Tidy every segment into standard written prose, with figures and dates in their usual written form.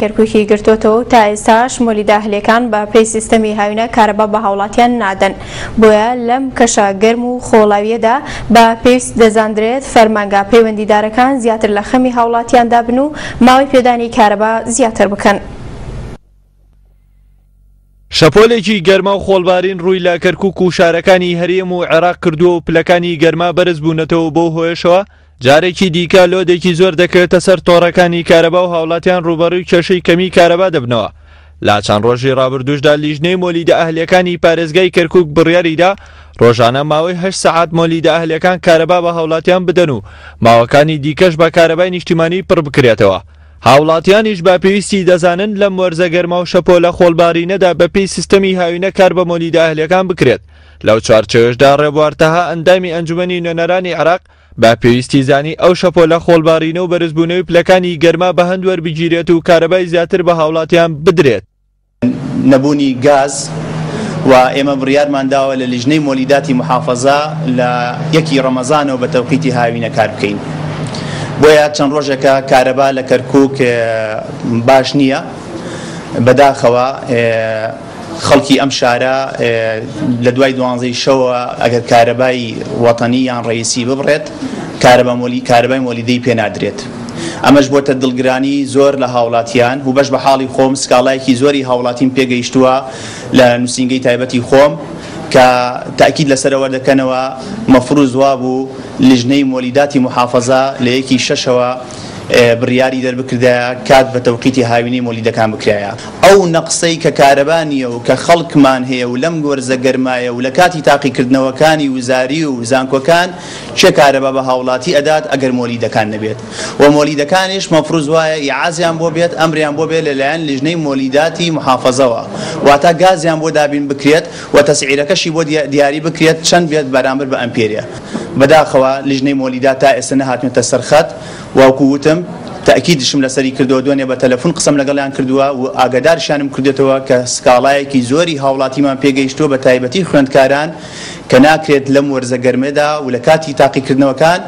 کەرکوکی گرتۆتەوە و تا ئێستاش مۆلیدە ئەهلیەکان بە پێی سیستەمی هاوینە کارەبا بە هاوڵاتیان نادەن، بۆیە لەم کەشە گەرم و خۆڵاویەدا بە پێویست دەزاندرێت فەرمانگە پەیوەندیدارەکان زیاتر لە خەمی هاوڵاتیاندا بن و ماوەی پێدانی کارەبا زیاتر بکەن. شەپۆلێکی گەرما و خۆڵبارین ڕووی لە کەرکوک و شارەکانی هەرێم و عێراق کردووە و پلەکانی گەرما بەرزبوونەتەوە و بەو هۆیەشەوە جارێکی دیکە لۆدێکی زۆر دەکەوێتە سەر تۆڕەکانی کارەبا و هاوڵاتیان ڕووبەڕووی کێشەی کەمی کارەبا دەبنەوە. لە چەند ڕۆژی ڕابردووشدا لیژنەی مۆلیدە ئەهلیەکانی پارێزگای کەرکوک بڕیاریدا ڕۆژانە ماوەی هەشت سەعات مۆلیدە ئەهلیەکان کارەبا بە هاوڵاتیان بدەن و ماوەکانی دیکەش بە کارەبای نیشتیمانی پڕبکرێتەوە. هاوڵاتیانیش بە پێویستی دەزانن لەم وەرزە گەرما و شەپۆلە خۆڵبارینەدا بەپێی سیستەمی هاوینە کار بە مۆلیدە ئەهلیەکان بکرێت. لەو چوارچێوەشدا ڕێبوار تەها ئەندامی ئەنجومەنی نوێنەرانی عێراق بە پێویستی زانی ئەو شەپۆلە خۆڵبارینە و بەرزبوونەوەی پلەکانی گەرما بە هەند وەربگیرێت و کارەبای زیاتر بە هاوڵاتیان بدرێت. نەبوونی گاز و ئێمە بڕیارمان داوە لە لیژنەی مۆلیداتی موحافەزە لە یەکی ڕەمەزانەوە بە تەوقیتی هاوینە کار بکەین بۆیە چەند ڕۆژێکە کارەبا لە کەرکوک باش نییە بەداخەوە خەڵکی ئەم شارە لە دوای دوانزەی شەوە ئەگەر کارەبای وەتەنی یان ڕەئیسی ببڕێت کارەبا مۆلی کارەبای مۆلیدەی پێ نادرێت ئەمەش بۆتە دڵگرانی زۆر لە هاوڵاتیان و بەش بە حاڵی خۆم سکاڵایەکی زۆری هاوڵاتیم پێگەیشتووە لە نووسینگەی تایبەتی خۆم کە تاکید لەسەرەوە دەکەنەوە مەفروز وابوو لیژنەی مۆلیداتی موحافەزە لە یەکی شەشەوە بڕیاری دەربکردایە کات بە تەوقیتی هاوینەی مۆلیدەکان بکرایە. ئەو نەقسەی کە کارەبا نییە و کە خەڵکمان هەیە و لەم وەرزە گەرمایە و لە کاتی تاقیکردنەوەکانی وزاری و زانکۆکان کێ کارەبا بە هاوڵاتی ئەدات ئەگەر مۆلیدەکان نەبێت و مۆلیدەکانیش مەفروز وایە ئیعازیان بۆ بێت ئەمریان بۆ بێت لەلایەن لیژنەی مۆلیداتی موحافەزەوە واتا گازیان بۆ دابین بکرێت و تەسعیرەکەشی بۆ دیاری بکرێت چەند بێت بەرامبەر بە ئەمپێرێ. بەداخەوە لیژنەی مۆلیدات تا ئێستا نەهاتونەتە سەر خەت وەکو وتم تەئکیدشم لەسەری کردووە دوێنێ بە تەلەفون قسەم لەگەڵیان کردووە و ئاگادارشیانم کردێتەوە کە سکاڵایەکی زۆری هاوڵاتیمان پێگەیشتووە بە تایبەتی خوێندکاران کە ناکرێت لەم وەرزە گەرمەدا و لە کاتی تاقیکردنەوەکان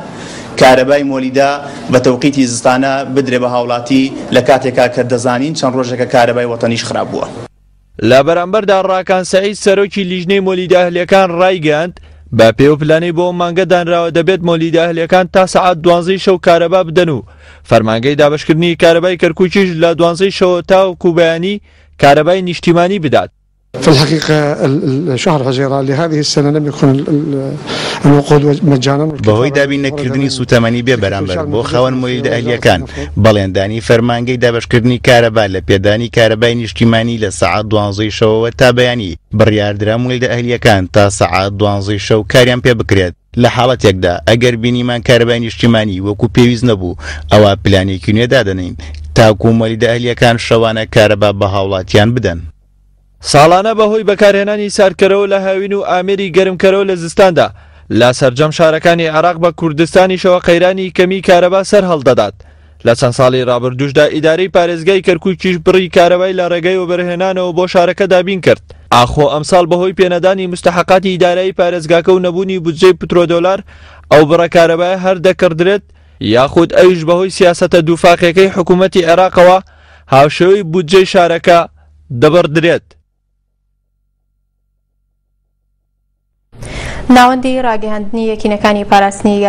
کارەبای مۆلیدە بە تەوقیتی زستانە بدرێ بە هاوڵاتی لە کاتێکا کە دەزانین چەند ڕۆژێکە کارەبای وەتەنیش خراپ بووە. لە بەرامبەردا ڕاکان سەعید سەرۆکی لیژنەی مۆلیدە ئەهلیەکان ڕایگەیاند، بە پێی ئەو پلانەی بۆ ئەم مانگە دانراوە دەبێت مۆلیدە ئەهلیەکان تا سەعات دوانزەی شەو کارەبا بدەن و فەرمانگەی دابەشکردنی کارەبای کەرکوکیش لە دوانزەی شەوە تاوەکو بەیانی کارەبای نیشتیمانی بدات. في الحقيقة شهر حزيران لهذه السنة لم يكن الوقود مجانا. بەهۆی دابین نەکردنی سووتەمەنی بێ بەرامبەر بۆ خاوەن مۆلیدە ئەهلییەکان، بەڵێندانی فەرمانگەی دابەشکردنی کارەبا لە پێدانی کارەبای نیشتیمانی لە سەعات دوانزەی شەوەوە تا بەیانی، بڕیاردرا مۆلیدە ئەهلییەکان تا سەعات دوانزەی شەو کاریان پێ بکرێت، لە حاڵەتێکدا ئەگەر بینیمان کارەبای نیشتیمانی وەکو پێویست نەبوو، ئەوا پلانێکی نوێ دادەنێین تاکو مۆلیدە ئەهلییەکان شەوانە کارەبا بە هاوڵاتیان بدەن. ساڵانە بەهۆی بەکارهێنانی ساردکەرەوە لە هاوین و ئامێری گەرمکەرەوە لە زستاندا لە سەرجەم شارەکانی عێراق بە کوردستانیشەوە قەیرانی کەمی کارەبا سەرهەڵدەدات. لە چەند ساڵی رابردووشدا ئیدارەی پارێزگای کەرکوکیش بڕی کارەبای لە رێگەی وەبەرهێنانەوە بۆ شارەکە دابین کرد. ئاخۆ ئەمساڵ بەهۆی پێنەدانی موستەحەقاتی دارایی پارێزگاکە و نەبوونی بودجەی پترۆدۆلار ئەو بڕە کارەبایە هەر دەکڕدرێت یاخود ئەویش بەهۆی سیاسەتە دووفاقیەکەی حکوومەتی عێراقەوە هاوشێوەی بودجەی شارەکە دەبڕدرێت. ناوەندی ڕاگەیاندنی یەکینەکانی پاراستنی.